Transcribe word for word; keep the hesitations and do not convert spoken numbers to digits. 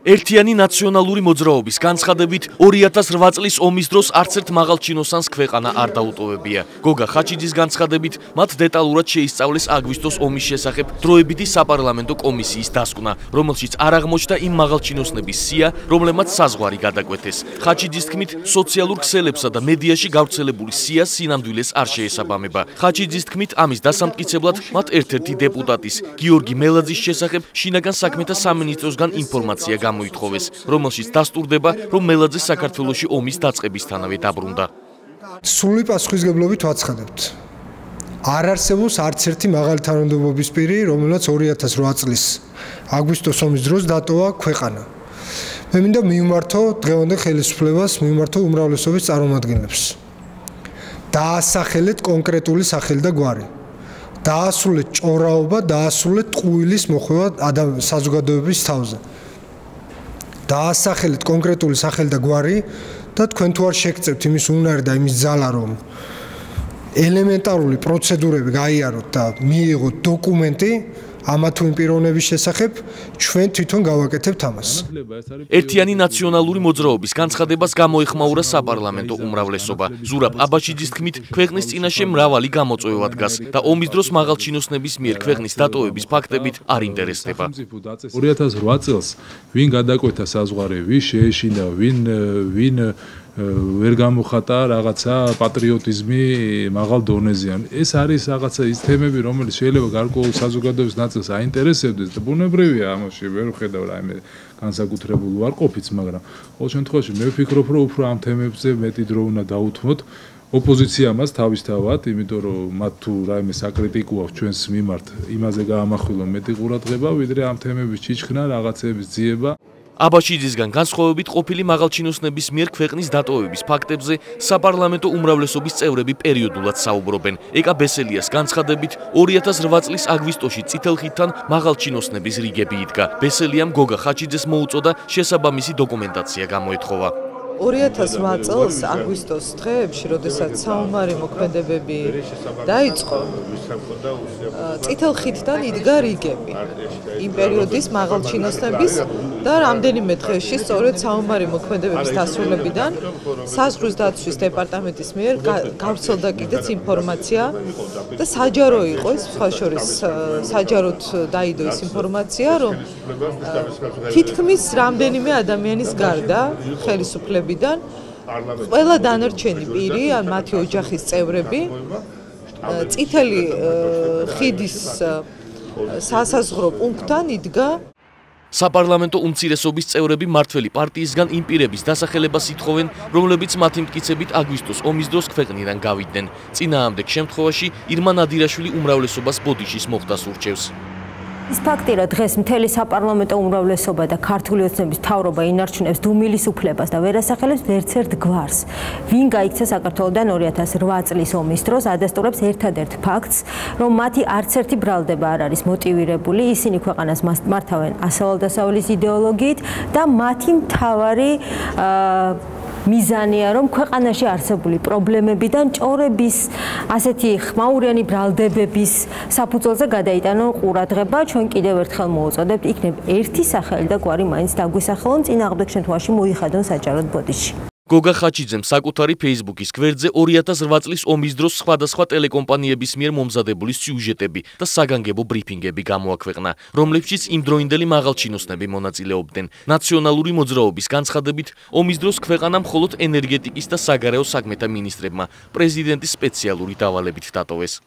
ერთიანი ნაციონალური მოძრაობის განცხადებით ორი ათას რვა წლის ომის დროს არც ერთ მაღალ ჩინოსანს ქვეყანა არ დაუტოვებია. გოგა ხაჩიძის განცხადებით მათ დეტალურად შეისწავლეს აგვისტოს ომის შესახებ დროებითი საპარლამენტო კომისიის დასკვნა, რომელშიც არ აღმოჩნდა იმ მაღალ ჩინოსნების სია, რომლებმაც საზღვარი გადაკვეთეს. ხაჩიძის თქმით, სოციალურ ქსელებსა და მედიაში გავრცელებული სია სინამდვილეს არ შეესაბამება. ხაჩიძის თქმით, ამის დასამტკიცებლად მათ ერთ-ერთი დეპუტატის, გიორგი მელაძის შესახებ შინაგან საქმეთა სამინისტროსგან ინფორმაცია გამოითხოვეს, რომელშიც დასტურდება, რომ მელაძე საქართველოში ომის დაწყებისთანავე დაბრუნდა. სრული პასუხისმგებლობით ვაცხადებთ. არ არსებობს არც ერთი მაღალი თანამდებობის პირი, რომელსაც ორი ათას რვა წლის აგვისტოს ომის დროს დატოვა ქვეყანა. მე მინდა მივმართო დღევანდელ ხელისუფლებას, მივმართო უმრავლესობის წარმომადგენლებს. დაასახელეთ კონკრეტული სახელი და გვარი. დაასრულეთ ჭორაობა, დაასრულეთ ტყუილის მოხვევა საზოგადოების თავზე. დაასახელეთ კონკრეტული სახელი და გვარი და თქვენ თუ არ შეგწევთ იმის უნარი და იმის ძალა, რომ ელემენტარული პროცედურები გაიაროთ და მიიღოთ დოკუმენტი ამა თუ იმ პიროვნების შესახებ, ჩვენ თვითონ გავაკეთებთ ამას. ერთიანი ნაციონალური მოძრაობის განცხადებას გამოეხმაურა საპარლამენტო უმრავლესობა. ზურაბ აბაშიძის თქმით, ქვეყნის წინაშე მრავალი გამოწვევა დგას და ომის დროს მაღალ ჩინოსნების მიერ ქვეყნის დატოვების ფაქტებით არ ინტერესდება. ორი ათას რვა წელს ვინ გადაკვეთა საზღვარი, ვინ შეეშინა, ვინ ვინ ვერ გამოხატა რაღაცა პატრიოტიზმი მაღალ დონეზეან. ეს არის რაღაცა ის თემები, რომელიც შეიძლება გარკვეულ საზოგადოების ნაწილს აინტერესებდეს და ბუნებრივია ამაში ვერ ვხედავ რაიმე განსაკუთრებულ უარყოფით, მაგრამ ყოველ შემთხვევაში მე ვფიქრობ, რომ უფრო ამ თემებზე მეტი დრო უნდა დაუთმოთ ოპოზიციამაც თავისთავად, იმიტომ რომ მათ თუ რაიმე საკრიტიკო აქვს ჩვენს მიმართ, იმაზე გაამახვილონ მეტი ყურადღება, ვიდრე ამ თემების ჩიჩქნა, რაღაცების ძიება. აბაშიძისგან განსხვავებით ყოფილი მაღალჩინოსნების მიერ ქვეყნის დატოვების ფაქტებზე საპარლამენტო უმრავლესობის წევრები პერიოდულად საუბრობენ. ეკა ბესელიას განცხადებით, ორი ათას რვა წლის აგვისტოში წითელ ხიდთან მაღალჩინოსნების რიგები იდგა. ბესელიამ გოგა ხაჩიძეს მოუწოდა შესაბამისი დოკუმენტაცია გამოეთხოვა. ორი ათას რვა წელს აგვისტოს დღეებში, როდესაც საომარი მოქმედებები დაიწყო, წითელ ხიდთან იდგა რიგები იმ პერიოდის მაღალჩინოსნების და რამდენიმე დღეში სწორედ საომარი მოქმედებების დასრულებიდან საზღვრის დაცვის დეპარტამენტის მიერ გავრცელდა კიდეც ინფორმაცია და საჯარო იყო ის, სხვა შორის საჯაროდ დაიდო ის ინფორმაცია, რომ თითქმის რამდენიმე ადამიანის გარდა ხელისუფლების ყველა დანარჩენი პირი, ან მათი ოჯახის წევრები, წითელი ხიდის სასაზღვრო პუნქტთან იდგა. საპარლამენტო უმცირესობის წევრები მმართველი პარტიისგან იმ პირების დასახელებას ითხოვენ, რომლებიც მათი მტკიცებით აგვისტოს ომის დროს ქვეყნიდან გავიდნენ. წინააღმდეგ შემთხვევაში ირმა ნადირაშვილი უმრავლესობას ბოდიშის მოხდას ურჩევს. ის ფაქტი, რომ დღეს მთელი საპარლამენტო უმრავლესობა და ქართული ოცნების მთავრობა ინარჩუნებს დუმილის უფლებას და ვერ ასახელებს ერთ-ერთ გვარს, ვინ გაიქცა საქართველოდან ორი ათას რვა წლის ომის დროს, ადასტურებს ერთადერთ ფაქტს, რომ მათი არც ერთი ბრალდება არ არის მოტივირებული, ისინი ქვეყანას მართავენ ასავალ-დასავალის იდეოლოგიით და მათი მთავარი მიზანია, რომ ქვეყანაში არსებული პრობლემებიდან ჭორების, ასეთი ხმაურიანი ბრალდებების საფუძველზე გადაიტანონ ყურადღება. ჩვენ კიდევ ერთხელ მოვუწოდებთ, იქნებ ერთი სახელი და გვარი მაინც დაგვისახელონ, წინააღმდეგ შემთხვევაში მოიხადონ საჯაროდ ბოდიში. გოგა ხაჩიძემ საკუთარი Facebook-ის გვერდზე ორი ათას რვა წლის ომის დროს სხვადასხვა ტელეკომპანიების მიერ მომზადებული სიუჟეტები და საგანგებო ბრიფინგები გამოაქვეყნა, რომლებშიც იმდროინდელი მაღალჩინოსნები მონაწილეობდნენ. ნაციონალური მოძრაობის განცხადებით, ომის დროს ქვეყანა მხოლოდ ენერგეტიკის და საგარეო საქმეთა მინისტრებმა პრეზიდენტის სპეციალური დავალებით დატოვეს.